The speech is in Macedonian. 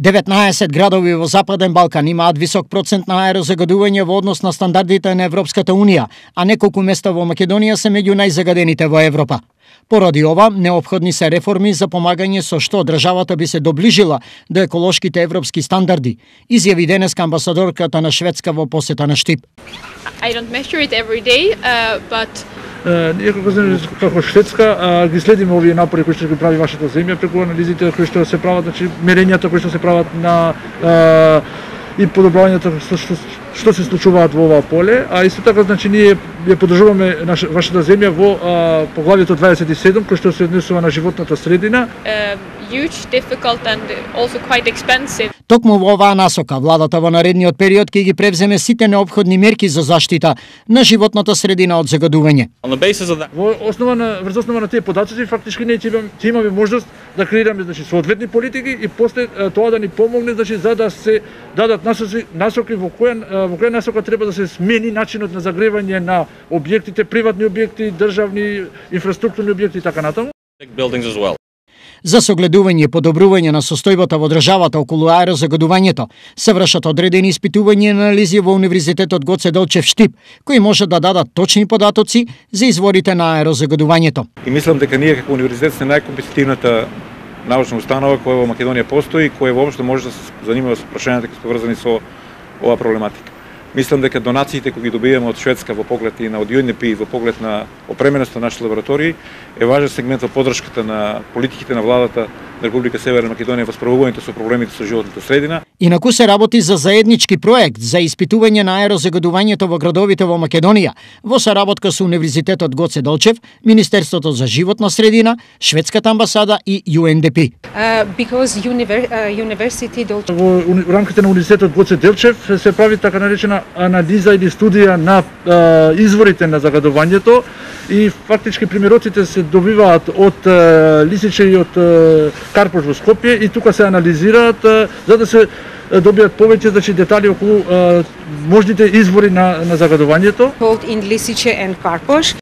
19 градови во Западен Балкан имаат висок процент на аерозагадување во однос на стандардите на Европската Унија, а неколку места во Македонија се меѓу најзагадените во Европа. Поради ова, неопходни се реформи за помагање со што државата би се доближила до еколошките европски стандарди, изјави денеска амбасадорката на Шведска во посета на Штип. I don't measure it every day, but ние како Шведска ги следиме овие напори кои што ги прави вашата земја преку анализите кои што се прават, значи мерењата кои што се прават на и подобрувањето што се случуваат во оваа поле, а исто така значи ние ја поддржуваме вашата земја во поглавието 27 кој што се однесува на животната средина. Huge, difficult and also quite expensive. Токму во оваа насока, владата во наредниот период ќе ги превземе сите неопходни мерки за заштита на животната средина од загадување. Врз основа на тие податоци фактички ние ќе имаме можност да креираме значи соодветни политики и после тоа да ни помогне значи за да се дадат насоки во која насока треба да се смени начинот на загревање на објектите, приватни објекти, државни инфраструктурни објекти и така натаму. За согледување и подобрување на состојбата во државата околу аерозагадувањето се вршат одредени испитувања и анализи во Универзитетот Гоце Делчев Штип, кои може да дадат точни податоци за изворите на аерозагадувањето. И мислам дека ние како универзитет сме најкомпетитивната научна установа која во Македонија постои и која воопшто може да се занимава со прашањата кои се поврзани со оваа проблематика. Мислам дека донациите кои ги добиваме од Шведска во поглед и на од UNDP и во поглед на опременоста на нашите лаборатории е важен сегмент во поддршката на политиките на владата на Република Северна Македонија во справувањето со проблемите со животната средина. Инаку се работи за заеднички проект за испитување на аерозагадувањето во градовите во Македонија во соработка со Универзитетот Гоце Делчев, Министерството за животна средина, Шведската амбасада и UNDP. Во рамките на Универзитетот Гоце Делчев се прави така наречена анализа или студија на изворите на загадувањето и фактички примероците се добиваат од Лисиче и од Карпош во Скопје и тука се анализираат за да се добијат повеќе значи детали околу можните извори на загадувањето.